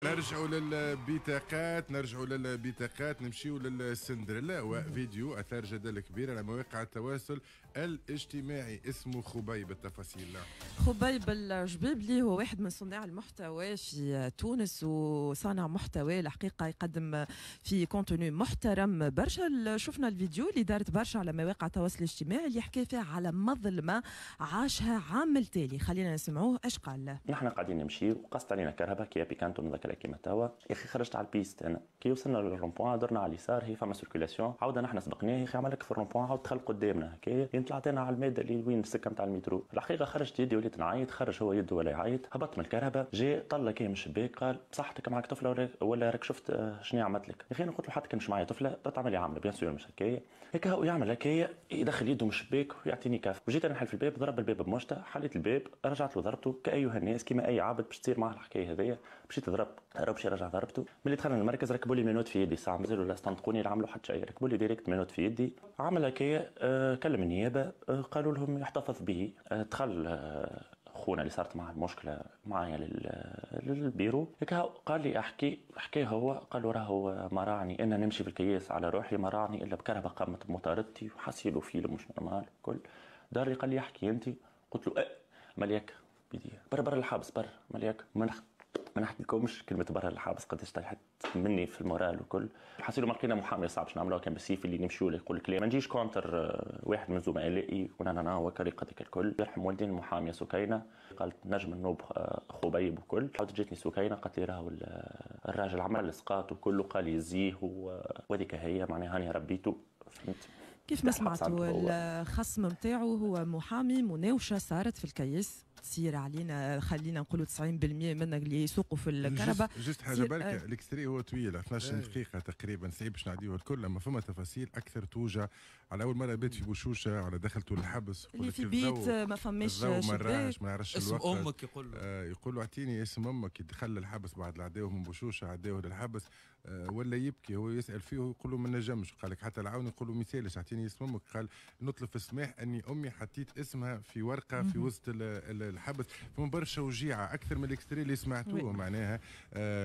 نرجعوا للبطاقات، نرجعوا للبطاقات، نمشيوا للسندريلا وفيديو اثار جدل كبير على مواقع التواصل الاجتماعي اسمه خبيب. التفاصيل خبيب الجبيبلي هو واحد من صناع المحتوى في تونس، وصانع محتوى الحقيقة يقدم في contenu محترم برشا. شفنا الفيديو اللي دارت برشا على مواقع التواصل الاجتماعي اللي حكى فيها على مظلمة عاشها عام التالي. خلينا نسمعوه اش قال. نحن قاعدين نمشي وقصت علينا كرهبة كيا بيكانتو نذكر كيما توا، يا اخي خرجت على ال piste انا، كي وصلنا لل rond-point درنا على اليسار، هي فما circulation، عاودنا نحن سبقناه، يا اخي عمل لك في ال rond-point عاود دخل قدامنا هكايا، طلعت انا على المادة اللي وين السكة نتاع المترو. الحقيقة خرجت يدي وليت نعيط، خرج هو يده ولا يعيط، هبط من الكرهبه، جاي طلع كي من الشباك قال بصحتك معك طفله ولا راك شفت شنو عملت لك. يا اخي انا قلت له حتى كان مش معايا طفله تعمل لي عامله bien sûr مش هكايا، هكا هو يعمل هكايا يدخل يده من الشباك ويعطيني كف، وجيت انا نحل في الباب، ضرب الباب بمشطه، حليت الباب رجعت له ضربته كايها الناس كيما اي عبد باش تصير معاه الحكاية هذيا، مشيت ضرب هرب شي رجع ضربته. ملي دخلنا المركز ركبوا لي menottes في يدي، ساعة مازالوا لا استنطقوني لا عملوا حتى شيء، ركبوا لي direct menottes في يدي. عمل هكايا كلم النيابة قالوا لهم يحتفظ به. دخل خونا اللي صارت معاه المشكلة معايا للبيرو، هكا قال لي احكي حكي هو، قال له راهو ما راعني انا نمشي في الكياس على روحي، ما راعني الا بكرهبه قامت بمطاردتي وحسيلو فيلم مش normal كل. دار لي قال لي احكي انت، قلت له مليك بيدي برا برا الحبس برا مليك، ما نحكي لكمش كلمة برا الحبس قداش طيحت مني في ال moral وكل. حسيلو ما لقينا محامي صعب باش نعملوها، كان بالسيف اللي نمشيو له يقول لك لا ما نجيش contre واحد من زملائي ونانا وكريقتك الكل. يرحم والدين المحاميه سكينة، قالت نجم النوب خبيب وكل. عاودت جاتني سكينة قالت لي راهو الراجل عمل اسقاط وكله، قال يزيه وهذيك هي معناها هاني ربيته. فهمت كيف ما سمعتوا الخصم نتاعو هو محامي، مناوشه صارت في الكيس تصير علينا، خلينا نقولوا 90% منا اللي يسوقوا في الكرهبه. juste حاجة بركة، ال extrait هو طويل 12 دقيقة تقريبا، صعيب باش نعديوه الكل، اما فما تفاصيل اكثر توجع. على اول مرة بيت في بوشوشه، على دخلته للحبس اللي في بيت ما فماش شباك، ما نعرفش اسم امك، يقول له يقول له اعطيني اسم امك. دخل للحبس بعد عداوة من بوشوشه، عداوة للحبس ولا يبكي، هو يسال فيه ويقول له ما نجمش. قال لك حتى العون يقول له ما يسالش اعطيني اسم امك، قال نطلب في السماح اني امي حطيت اسمها في ورقة في وسط الحبس. فما برشا وجيعه اكثر من ال extrait اللي سمعتوه معناها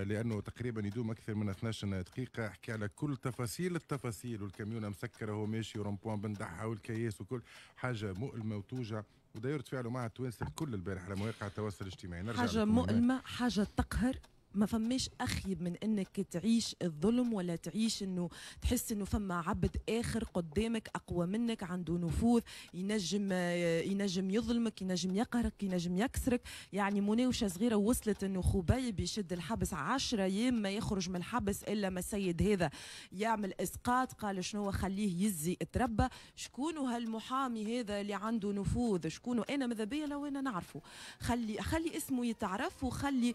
لانه تقريبا يدوم اكثر من 12 دقيقة. حكي على كل تفاصيل التفاصيل، والكاميونه مسكره وهو ماشي و rond-point بندحها والكياس وكل حاجة مؤلمة وتوجع. وداير تفاعلوا مع التوانسة الكل البارح على مواقع التواصل الاجتماعي. نرجع حاجة مؤلمة، حاجة تقهر، ما فماش أخيب من انك تعيش الظلم ولا تعيش انه تحس انه فما عبد اخر قدامك اقوى منك، عنده نفوذ، ينجم يظلمك، ينجم يقهرك، ينجم يكسرك. يعني مناوشه صغيرة وصلت انه خبيب يشد الحبس 10 ايام ما يخرج من الحبس الا ما السيد هذا يعمل اسقاط. قال شنو خليه يزي اتربى. شكون هالمحامي هذا اللي عنده نفوذ؟ شكون؟ انا ماذا بيا لو انا نعرفه، خلي اسمه يتعرف، وخلي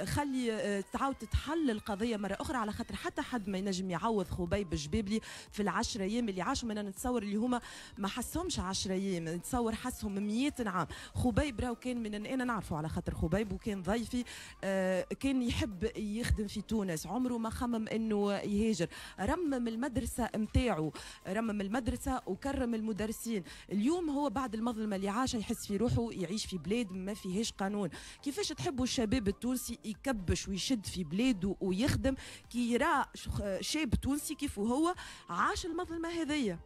خلي تعاود تتحل القضية مرة اخرى، على خاطر حتى حد ما ينجم يعوض خبيب الجبابلي في ال10 ايام اللي عاشوا. انا نتصور اللي هما ما حسهمش 10 ايام، نتصور حسهم 100 عام. خبيب راهو كان من انا نعرفه على خاطر خبيب وكان ضيفي، كان يحب يخدم في تونس، عمره ما خمم انه يهاجر. رمم المدرسة نتاعو، رمم المدرسة وكرم المدرسين. اليوم هو بعد المظلمة اللي عاشها يحس في روحه يعيش في بلاد ما فيهاش قانون. كيفاش تحبوا الشباب التونسي يكبش ويشد في بلاده ويخدم كي يرى شاب تونسي كيف هو عاش المظلمة هذية؟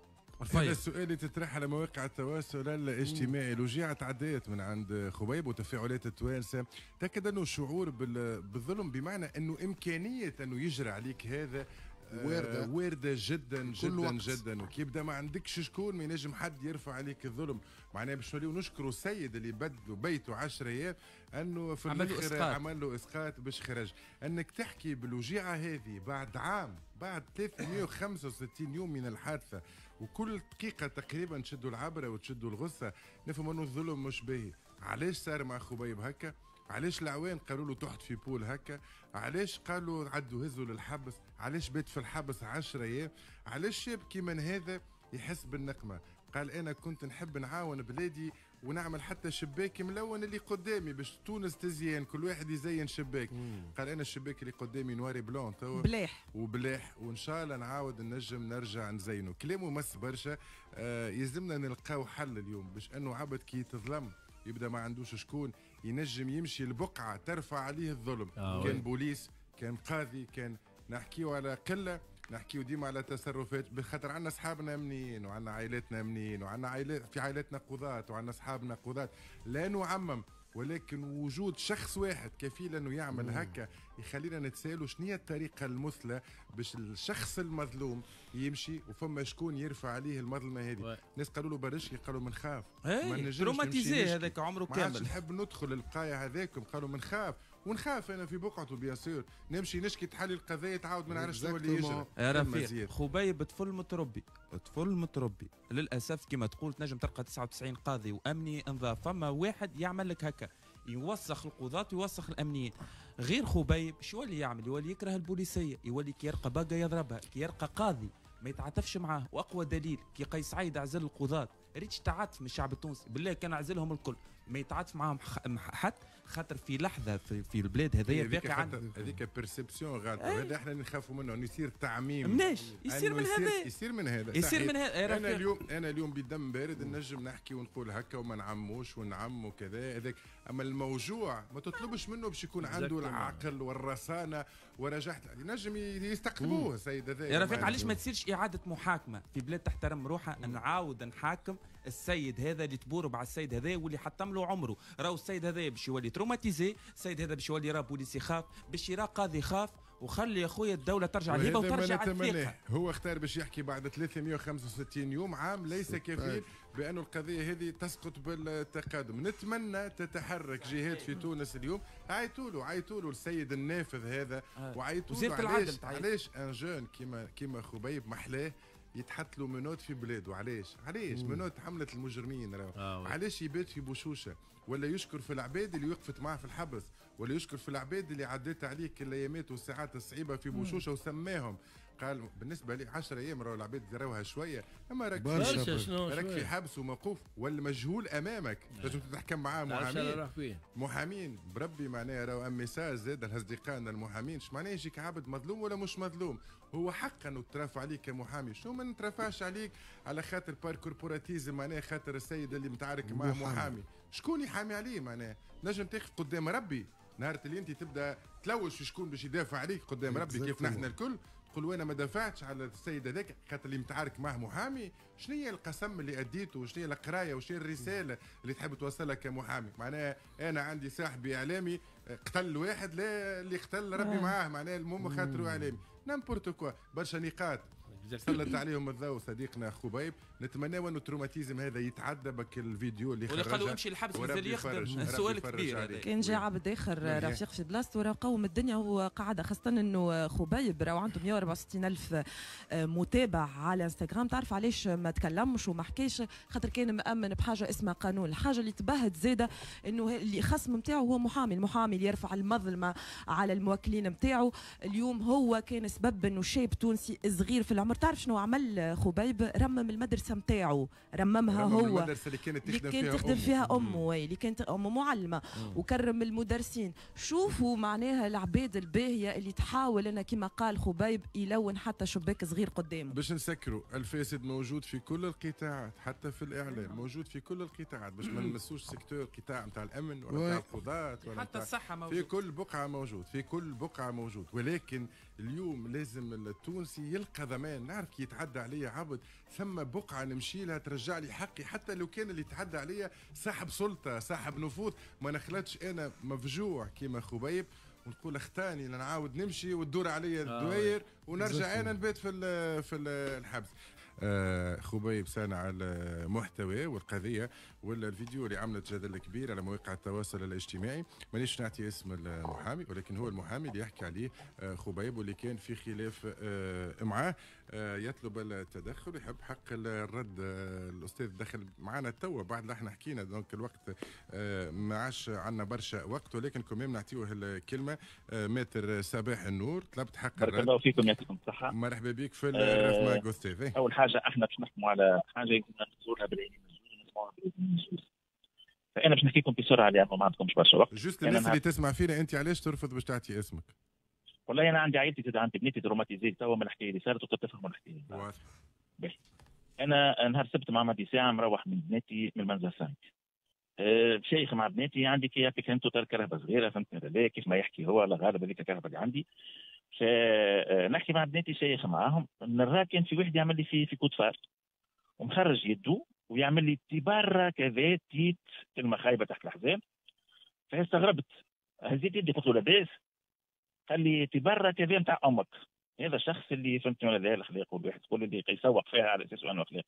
هذا السؤال اللي تطرح على مواقع التواصل الاجتماعي. الوجيعة تعديت من عند خبيب وتفاعلات التوانسة تأكد أنه الشعور بالظلم، بمعنى أنه إمكانية أنه يجرى عليك هذا واردة جدا جدا جدا. وكي يبدا ما عندكش شكون، ما ينجم حد يرفع عليك الظلم. معناها باش نوليو نشكروا السيد اللي بدلوا بيته 10 ايام انه في الاخر عمل له اسقاط باش خرج. انك تحكي بالوجيعه هذه بعد عام، بعد 365 يوم من الحادثة، وكل دقيقة تقريبا تشدوا العبرة وتشدوا الغصة، نفهم انه الظلم مش باهي. علاش صار مع خبيب هكا؟ علاش العوان قالوا له تحت في بول هكا؟ علاش قالوا عدوا هزوا للحبس؟ علاش بات في الحبس 10 ايام؟ علاش شاب كيما هذا يحس بالنقمه؟ قال انا كنت نحب نعاون بلادي ونعمل حتى شباك ملون اللي قدامي باش تونس تزيان، كل واحد يزين شباك. قال انا الشباك اللي قدامي noir et blanc توا بلاح وبلاح، وان شاء الله نعاود نجم نرجع نزينه. كلامه مس برشا. يلزمنا نلقاو حل اليوم باش انه عبد كي يتظلم يبدا ما عندوش شكون ينجم يمشي البقعة ترفع عليه الظلم. كان بوليس، كان قاضي، كان نحكيو على قلة، نحكيو ديما على تصرفات، بخاطر عندنا اصحابنا امنيين وعندنا عائلاتنا امنيين وعندنا عائلات في عائلاتنا قضاة وعندنا اصحابنا قضاة، لا نعمم، ولكن وجود شخص واحد كفيل انه يعمل هكا يخلينا نتسالوا شنو هي الطريقة المثلى باش الشخص المظلوم يمشي وفما شكون يرفع عليه المظلمة هذه. الناس قالوا له برشكي، قالوا من خاف، ما نجمش traumatisé هذاك عمره كامل، نحب ندخل البقايا هذاكم، قالوا من خاف ونخاف انا في بقعته bien sûr نمشي نشكي تحلي القضية تعاود ما نعرفش شنو اللي يجري. يا رفيق خبيب طفل متربي، طفل متربي للاسف كما تقول تنجم تلقى 99 قاضي وامني انظاف، فما واحد يعمل لك هكا يوسخ القضاة ويوسخ الامنيين. غير خبيب شو اللي يعمل؟ يولي يكره البوليسيه، يولي كي يرقى باقه يضربها، كي يرقى قاضي ما يتعاطفش معاه. واقوى دليل كي قيس سعيد عزل القضاة، ريتش تعاطف من الشعب التونسي، بالله كان عزلهم الكل ما يتعاطف معاهم حد، خاطر في لحظة في البلاد هذيا باقي عندنا هذيك perception غلط، هذا احنا نخافوا منه انه يصير تعميم. مناش يصير من هذا، يصير من هذا، يصير من هذا. انا اليوم بدم بارد نجم نحكي ونقول هكا وما نعموش ونعم وكذا هذاك، اما الموجوع ما تطلبش منه باش يكون عنده العقل والرصانه ورجحت، نجم يستقطبوه السيد هذا. يا رفيق علاش ما تصيرش اعاده محاكمة في بلاد تحترم روحها؟ نعاود نحاكم السيد هذا اللي تبورب على السيد هذا واللي حطم له عمره، راهو السيد هذا باش يولي traumatisé، السيد هذا باش يولي راه بوليسي خاف، باش يرى قاضي خاف، وخلي يا خويا الدولة ترجع لهبه وترجع الثقة. هو اختار باش يحكي بعد 365 يوم، عام ليس كفيل بأن القضية هذه تسقط بالتقادم. نتمنى تتحرك جهات في تونس اليوم، عيطوا له السيد النافذ هذا، وعيطوا له علاش un jeune كيما خبيب محلاه يتحط له menottes في بلاده؟ علاش menottes حملة المجرمين راهو. علاش يبات في بوشوشه ولا يشكر في العباد اللي وقفت معاه في الحبس، ولا يشكر في العباد اللي عديت عليك الايامات والساعات الصعيبه في بوشوشه وسماهم؟ قال بالنسبة لي 10 ايام راهو العباد راوها شوية، اما راك في حبس وموقوف والمجهول امامك، لازم تتحكم معاه محامين. محامين بربي معناها راهو un message زاد لاصدقائنا المحامين، اش معناها يجيك عبد مظلوم ولا مش مظلوم؟ هو حقا انه ترافع عليك كمحامي، شنو ما نترافعش عليك على خاطر par corporatisme، معناها خاطر السيد اللي متعارك معاه محامي، شكون يحامي عليه؟ معناها نجم تاخذ قدام ربي نهار اللي انت تبدا تلوج في شكون باش يدافع عليك قدام ربي كيف نحن الكل، تقول وانا ما دافعتش على السيد هذاك خاطر اللي متعارك معه محامي. شنو هي القسم اللي اديته وشنو هي القراية وشنو هي الرسالة اللي تحب توصلها كمحامي؟ معناها انا عندي صاحبي اعلامي قتل واحد، لا اللي قتل ربي معاه، معناها المهم خاطره اعلامي، n'importe quoi. برشا نقاط سلط عليهم الضوء صديقنا خبيب، نتمنى انه ال traumatisme هذا يتعدى بك الفيديو اللي خرجه، واللي قالوا امشي الحبس مازال يخدم، سؤال كبير. كان جا عبد اخر رفيق في بلاصته راه قوم الدنيا وقعد، خاصة انه خبيب راه عنده 164 الف متابع على انستغرام. تعرف علاش ما تكلمش وما حكاش؟ خاطر كان مأمن بحاجة اسمها قانون. الحاجة اللي تبهت زاده انه اللي خصم نتاعو هو محامي، المحامي اللي يرفع المظلمة على الموكلين نتاعو. اليوم هو كان سبب انه شاب تونسي صغير في العمر، تعرف شنو عمل خبيب؟ رمم المدرسة نتاعو، رممها هو، المدرسة اللي كانت تخدم فيها امه، اللي كانت امه معلمه، وكرم المدرسين. شوفوا معناها العباد الباهيه اللي تحاول ان كما قال خبيب يلون حتى شباك صغير قدامه. باش نسكروا، الفاسد موجود في كل القطاعات، حتى في الاعلام موجود في كل القطاعات، باش ما نمسوش secteur قطاع نتاع الامن ولا نتاع القضاة ولا حتى الصحة موجود، في كل بقعة موجود، في كل بقعة موجود. ولكن اليوم لازم التونسي يلقى ضمان، نعرف كي يتعدى عليا عبد ثم بقعة نمشي لها ترجع لي حقي، حتى لو كان اللي يتعدى عليا صاحب سلطة صاحب نفوذ، ما نخلطش انا مفجوع كيما خبيب ونقول اختاني نعاود نمشي وتدور عليا الدواير ونرجع انا نبات في الحبس. خبيب صانع المحتوى والقضية ولا الفيديو اللي عملت جدل كبير على مواقع التواصل الاجتماعي، مانيش نعطي اسم المحامي ولكن هو المحامي اللي يحكي عليه خبيب واللي كان في خلاف معاه، يطلب التدخل، يحب حق الرد. الاستاذ دخل معنا توا بعد ما احنا حكينا، donc الوقت ما عادش عندنا برشا وقت، ولكن كمان نعطيوه الكلمة. maître صباح النور، طلبت حق الرد. بارك الله فيكم، يعطيكم الصحة. مرحبا بك في الرف مع استاذ. اول حاجة احنا باش نحكموا على حاجة يلزمنا نزورها بالعينين ونسمعوها بالاذن الزوز. فانا باش نحكي لكم بسرعة لانه ما عندكمش برشا وقت. juste الناس اللي تسمع فينا، انت علاش ترفض باش تعطي اسمك؟ والله انا عندي عائلتي زاد، عندي بنيتي traumatisée توا من الحكاية اللي صارت، وقد تفهموا الحكاية. واضح. انا نهار السبت مع ماضي ساعة مروح من بناتي من المنزل 5. شيخ مع بناتي، عندي كيا بيكانتو تاع كرهبه صغيرة، فهمتني ولا كيف ما يحكي هو، على غالب هذيك الكرهبه اللي عندي. نحكي مع بناتي شيخ معاهم، نرى كان في واحد يعمل لي في coup de phare ومخرج يده ويعمل لي تبارة كذا تيت، كلمة خايبة تحت الحزام. فاستغربت، هزيت يدي قلت له لاباس؟ قال لي تبارة كذا نتاع امك. هذا الشخص اللي فهمتني ولا لا الاخلاق، والواحد تقول اللي يسوق فيها على اساس انه اخلاق.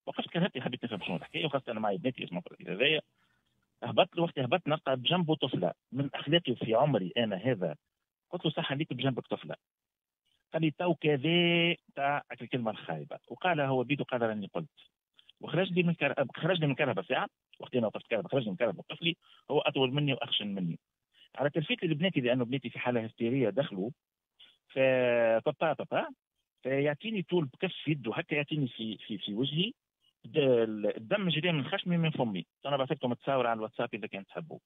وقفت كرهتي، حبيت نفهم شنو الحكاية، وخاصة انا معي بناتي اسمها هذايا. هبطت له، وقت هبطت نلقى بجنبه طفله من اخلاقي في عمري انا هذا، قلت له صح عليك بجنبك طفله. قال لي تو كذا تاع الكلمة الخايبة، وقالها هو بيدو، قال راني قلت. وخرج لي من خرج لي من كرهبه ساعة، وقت انا وقفت كرهبه خرج لي من كرهبه وقف لي، هو اطول مني واخشن مني. على تلفيت لبناتي لانه بناتي في حاله هستيريه دخلوا، فبابا بابا فيعطيني طول بكف يده هكا، يعطيني في في في وجهي، الدم جري من خشمي من فمي. انا بعثت لكم تصاور على الواتساب اذا كان تحبوا.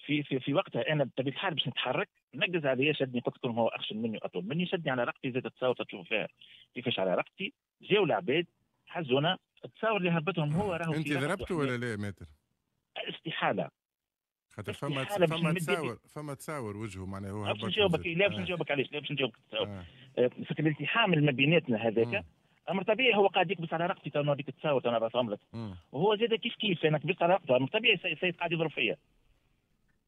في في في وقتها انا بطبيعة الحال باش نتحرك نقز عليا، شدني، قلت لكم هو اخشن مني واطول مني، شدني على رقبتي، زاد التصاور تشوفوا فيها كيفاش على رقبتي. جاو العباد حزونا، التصاور اللي هبطهم هو راهو. انت ضربته ولا لا maître؟ استحالة، خاطر فما تصاور وجهه معناها هو هبط. باش نجاوبك، لا باش نجاوبك علاش، لا باش نجاوبك التصاور. في الالتحام اللي ما بيناتنا هذاك امر طبيعي، هو قاعد يكبس على رقبتي، تو نوريك التصاور تو نبعثهم لك. وهو زاد كيف كيف، انا كبست على رقبته، امر طبيعي السيد قاعد يضرب فيا.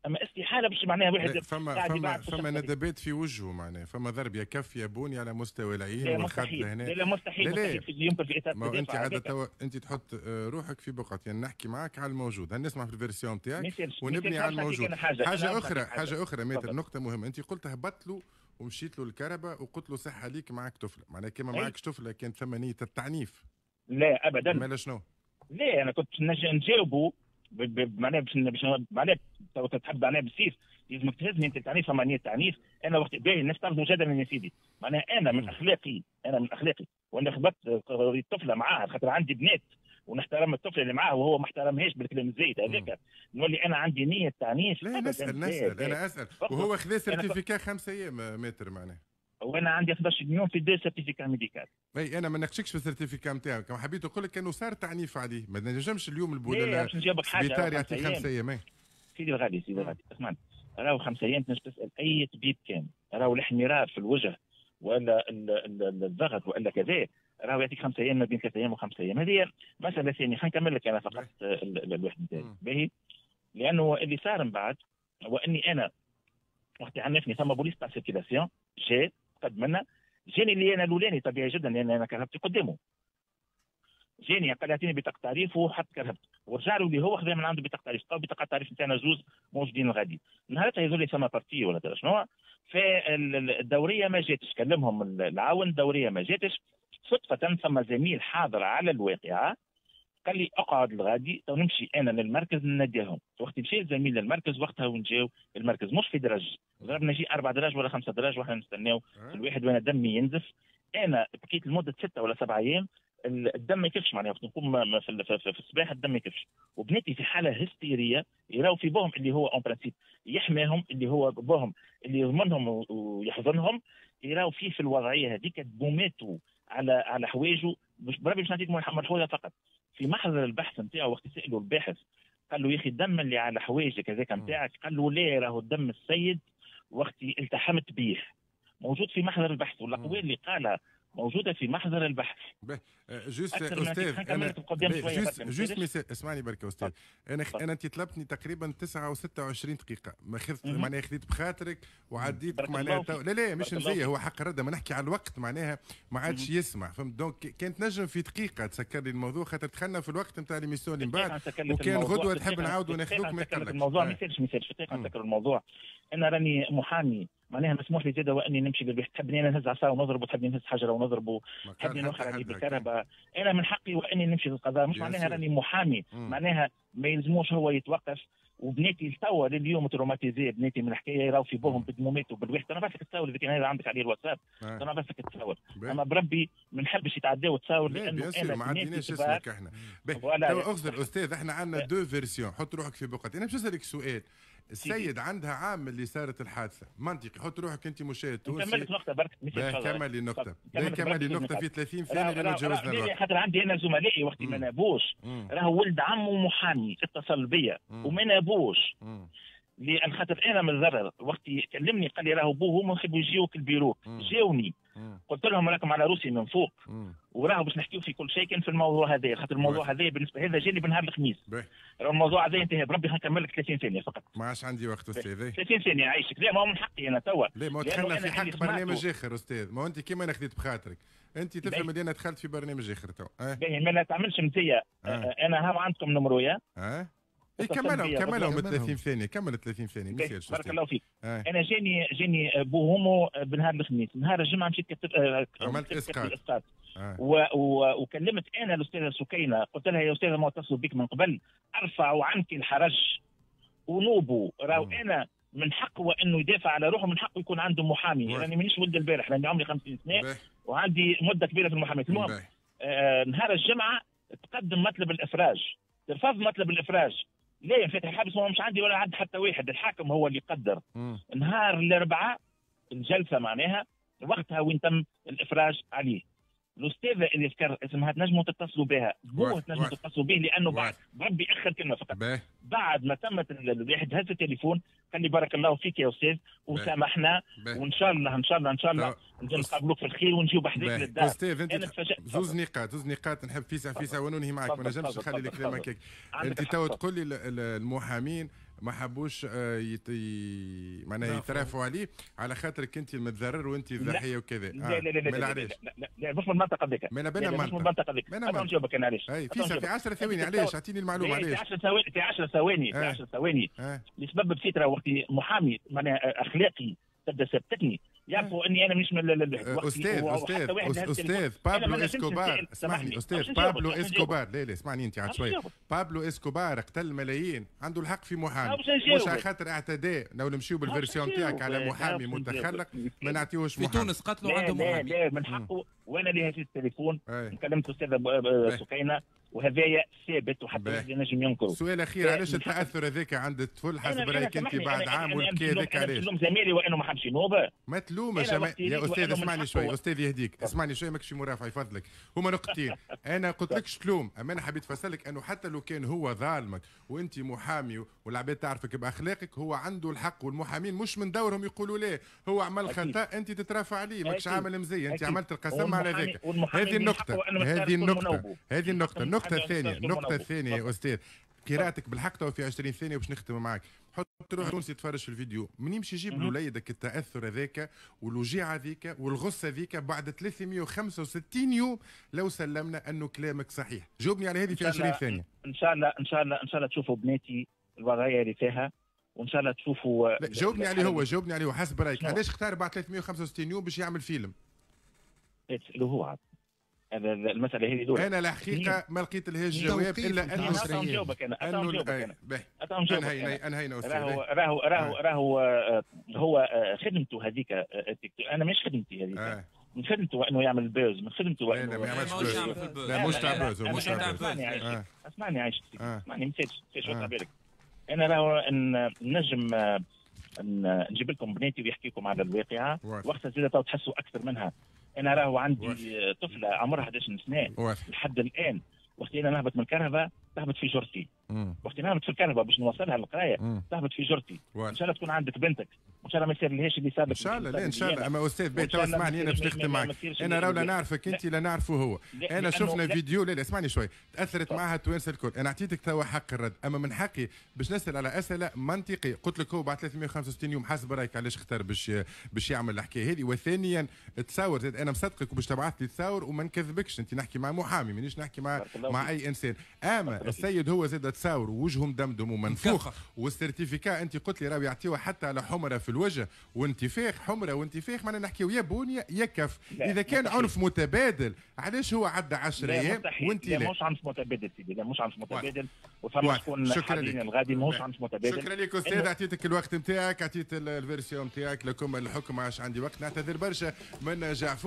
اما استحالة باش معناها واحد فما ندبات في وجهه، معناها فما ضرب يا كف يا بوني على مستوى العين والخد لهنا. لا مستحيل، مستحيل يمكن في اطار ما انت عادة توا انت تحط روحك في بقعة، يعني نحكي معاك على الموجود، نسمع في ال version تاعك ونبني على الموجود. حاجة اخرى، حاجة اخرى maître، نقطة مهمة، انت قلت هبط له ومشيت له الكرهبه وقلت له صحة ليك معاك طفله، معناها كما معاكش طفله كانت ثم نيه التعنيف. لا ابدا. مالا شنو؟ لا انا كنت نجاوبه معناها باش معناها تحب معناها بالسيف لازمك تهزني انت التعنيف، فما نيه التعنيف. انا وقت باهي الناس تعرفوا جدلا يا سيدي، معناها انا من اخلاقي، انا من اخلاقي وانا خبطت الطفلة معاها خاطر عندي بنات ونحترم الطفلة اللي معاه وهو ما احترمهاش بالكلام الزايد هذاك، نولي انا عندي نيه تعنيف. لا نسال انا اسال، وهو خذا certificat 5 ايام maître معناها، وانا عندي 11 يوم في deux certificats médicaux. اي انا ما ناقشكش في ال certificat نتاعك، كما حبيت نقول لك انه صار تعنيف عليه، ما نجمش اليوم السبيطار يعطي 5 ايام. سيدي الغالي، سيدي الغالي اسمعني، راهو 5 ايام تنجم تسال اي طبيب كان، راهو الاحمرار في الوجه ولا الضغط ولا كذا، راهو يعطيك 5 ايام، ما بين 3 ايام و5 ايام. هذه مسالة ثانية، خلينا نكمل لك انا فقط الواحد نتاعي باهي، لانه اللي صار من بعد واني انا وقت عنفني ثم بوليس تاع circulation جا قد منا، جاني اللي انا الاولاني طبيعي جدا لان انا كرهبتي قدامه، جاني قال اعطيني بطاقة تعريف وحط كرهبته، ورجع له اللي هو خذا من عنده بطاقة تعريف، قال بطاقة التعريف نتاعنا زوز موجودين غادي. نهارتها يظل لي ثم partie ولا ترى شنو، فالدوريه ما جاتش، كلمهم العاون الدورية ما جاتش. صدفة ثم زميل حاضر على الواقعة قال لي اقعد الغادي تو نمشي انا للمركز نناديهم. وقت مشى الزميل للمركز وقتها ونجاو المركز مش في درج، ضربنا شي 4 دراج ولا 5 دراج واحنا نستناو في الواحد وانا دمي ينزف. انا بكيت لمدة 6 ولا 7 ايام الدم ما يكفش، معناها وقت نقوم في الصباح الدم ما يكفش، وبناتي في حاله هستيريه يراو في بوهم اللي هو en principe يحماهم، اللي هو بوهم اللي يضمنهم ويحضنهم، يراو فيه في الوضعية هذيك بوماتو على حوايجه. مش بربي باش نعطيك ملحوظة فقط، في محضر البحث نتاعو وقت سالوا الباحث قال له يا اخي الدم اللي على حوايجك هذاك نتاعك، قال له لا راهو الدم السيد وقت التحمت بيه، موجود في محضر البحث، والاقوال اللي قالها موجودة في محضر البحث. juste استاذ انا juste اسمعني بركة استاذ، انا انت طلبتني تقريبا 9:26 دقيقة، ما خذت معناها خذيت بخاطرك وعديت معناها لا لا مش مزية، هو حق الرد، ما نحكي على الوقت معناها ما عادش يسمع، فهمت؟ donc كانت نجم في دقيقة تسكر لي الموضوع خاطر دخلنا في الوقت نتاع l'émission اللي من بعد، وكان غدوه تحب نعاودوا ناخذوك ما يقلقش الموضوع. ما يسالش ما يسالش، دقيقة نسكر الموضوع. انا راني محامي معناها مسموح لي زاده واني نمشي للبيت، تحبني انا نهز عصا ونضرب، وتحبني نهز حجره ونضرب، تحبني نوخر عليه بالكهرباء، انا من حقي واني نمشي للقضاء، مش معناها راني محامي، معناها ما يلزموش هو يتوقف. وبناتي توا لليوم traumatisés، بناتي من الحكاية يراو في بوهم بدمومات وبالواحد. انا بعث لك التصاور اذا كان هذا عندك عليه الواتساب، انا بعث لك التصاور، اما بربي ما نحبش يتعداو التصاور لانه انا ما عندناش اسمك احنا. توا اخزر استاذ، احنا عندنا deux versions، حط روحك في بقعتي. انا باش نسالك سؤال، السيد عندها عام اللي صارت الحادثة، منطقي، حط روحك انت مشاهد تونسي. كملت نقطة برك. كمل لي النقطة، كمل لي النقطة في 30 ثانية لانه تجاوزنا الوقت. خاطر عندي انا زملائي وقت ما نابوش، راهو ولد عمه محامي اتصل بيا وما نابوش. لان خاطر انا متضرر، وقت كلمني قال لي راهو بوه هما يحبوا يجيوك البيرو، جاوني قلت لهم راكم على روسي من فوق، وراهو باش نحكيو في كل شيء كان في الموضوع هذا، خاطر الموضوع هذا بالنسبة هذا جاني بنهار الخميس، راهو الموضوع هذا انتهى بربي. نكمل لك 30 ثانية فقط. ما عادش عندي وقت استاذ. 30 ثانية عايشك. لا ما هو من حقي انا توا. لا ما دخلنا في حق برنامج اخر استاذ، ما هو انت كيما انا خذيت بخاطرك، انت تفهم اللي انا دخلت في برنامج اخر توا. باهي ما تعملش مزية، انا هاو عندكم نمرويا. كملهم 30 ثانية، كمل 30 ثانية ما يصيرش. بارك الله فيك. أنا جاني بوهومو بنهار الخميس، نهار الجمعة مشيت كتبت عملت إسقاط. وكلمت أنا الأستاذة سكينة، قلت لها يا أستاذة ما اتصلوا بك من قبل، أرفعوا عنك الحرج ونوبوا، راهو أنا من حقه انه يدافع على روحه، من حقه يكون عنده محامي، لاني مانيش ولد البارح، لاني عمري 50 سنة وعندي مدة كبيرة في المحاماة. المهم نهار الجمعة تقدم مطلب الإفراج، ترفض مطلب الإفراج. لا فاتح الحبس هو مش عندي ولا عند حتى واحد، الحاكم هو اللي قدر. نهار الاربعاء الجلسة معناها وقتها وين تم الافراج عليه. الاستاذة اللي ذكر اسمها تنجموا تتصلوا بها، بوه تنجموا تتصلوا به، لانه بعد بربي اخر كلمة فقط. بعد ما تمت الواحد هز التليفون قال لي بارك الله فيك يا استاذ وسامحنا، وان شاء الله ان شاء الله ان شاء الله نقابلوك في الخير ونجيو بحذاك للدار. استاذ انت زوز نقاط نحب فيسع فيسع وننهي معك، ما نجمش نخلي الكلام هكاك. انت تو تقول لي المحامين ما حبوش معناها يترافعوا عليه على خاطرك انت المتضرر وانت الضحية وكذا. لا لا لا لا لا لا لا مش من المنطقة ذيك. مش من المنطقة ذيك. انا نجاوبك انا علاش. في 10 ثواني علاش؟ اعطيني المعلومة علاش. في 10 ثواني، في 10 ثواني، في 10 ثواني. لسبب بسيط، راه وقت محامي معناها اخلاقي تبدا ثبتني، يعرفوا اني انا مش من استاذ استاذ استاذ بابلو اسكوبار، اسمعني استاذ بابلو اسكوبار، لا لا اسمعني انت عاد شوية. بابلو اسكوبار قتل ملايين، عنده الحق في محامي، مش على خاطر اعتداء. لو نمشيو بال version تاعك على محامي متخلق ما نعطيوش محامي. في تونس قتلوا عنده محامي. لا من حقه، وانا اللي هزيت التليفون كلمت الاستاذة سكينة وهذايا ثابت وحتى واحد ينجم ينكره. سؤال اخير، علاش التاثر هذاك عند الطفل حسب رايك انت بعد عام والبكاء هذاك علاش؟ نلوم زميلي وانه ما حبش ينوب. ما تلومش يا استاذ، اسمعني شوي استاذ يهديك، اسمعني شوي ماكش مرافع يفضلك. هما نقطتين، انا قلت لكش تلوم، اما انا حبيت نفسرلك انه حتى لو كان هو ظالمك وانت محامي والعباد تعرفك باخلاقك، هو عنده الحق، والمحامين مش من دورهم يقولوا ليه هو عمل خطا انت تترافع عليه، ماكش عامل مزية، انت عملت القسم على ذاك. هذه النقطة، هذه النقطة، هذه النقطة. النقطة الثانية، النقطة الثانية يا أستاذ، قراءتك بالحق تو في 20 ثانية باش نختم معاك. حط روح تونسي يتفرج في الفيديو، من يمشي يجيب لوليدك التأثر هذاك والوجيعة هذيك والغصة هذيك بعد 365 يوم لو سلمنا أنه كلامك صحيح؟ جاوبني على هذه في 20 ثانية. إن شاء الله إن شاء الله إن شاء الله تشوفوا بناتي الوضعية اللي فيها، وإن شاء الله تشوفوا. جاوبني عليه هو، جاوبني عليه حسب رأيك علاش اختار بعد 365 يوم باش يعمل فيلم؟ تسألوه هو عاد. هذا المسألة هذه دولة. أنا الحقيقة ما لقيت لهاش جواب إلا أنه نجاوبك أنا، نجاوبك أنا، أنهينا أستاذ. راهو راهو راهو هو خدمته هذيك، أنا مش خدمتي هذيك، من خدمته أنه يعمل buzz، من خدمته أنه لا ما يعملش buzz، لا مش تاع buzz، مش تاع buzz. اسمعني عايش، اسمعني ما تسالش وسع بالك. أنا راهو نجم نجيب لكم بناتي ويحكي لكم على الواقعة، وقتها زاد تحسوا أكثر منها. انا راهو عندي طفله عمرها 11 سنة لحد الان، وقت انا نهبط من الكرهبه تهبط في جرتي، وقت نهبط في الكرهبه باش نوصلها للقرايه تهبط في جرتي. ان شاء الله تكون عندك بنتك، وان شاء الله ما يصير لهاش اللي صار. ان شاء الله، لا ان شاء الله. اما استاذ بيت تو اسمعني، انا باش نختم معك، انا راهو لا نعرفك انت لا نعرفه هو. انا شفنا فيديو، لا لا اسمعني شوي، تاثرت معها التوانسة الكل، انا اعطيتك توا حق الرد، اما من حقي باش نسال على اسئلة منطقية. قلت لك هو بعد 365 يوم حسب رايك علاش اختار باش يعمل الحكاية هذه؟ وثانيا تصور زاد انا مصدقك وباش تبعث لي تصور وما نكذبكش، انت نحكي مع محامي مانيش نحكي مع اي انسان. اما السيد هو زاد تصور وجهه مدمدم ومنفوخ، وال certificat انت قلت لي راهو يعطيوها حتى على حمرة في الوجه وانتفاخ، حمرة وانتفاخ، معناها نحكيو يا بونيه يا كف. اذا كان عنف متبادل علاش هو عدى 10 ايام وانت لا؟ مش عنف متبادل سيدي، لا مش عنف متبادل، وفما شكون حاليا الغادي ماهوش عنف متبادل. شكرا لك استاذ، اعطيتك الوقت نتاعك، اعطيت ال version نتاعك، لكم الحكم عاش عندي وقت. نعتذر برشا من جعفور.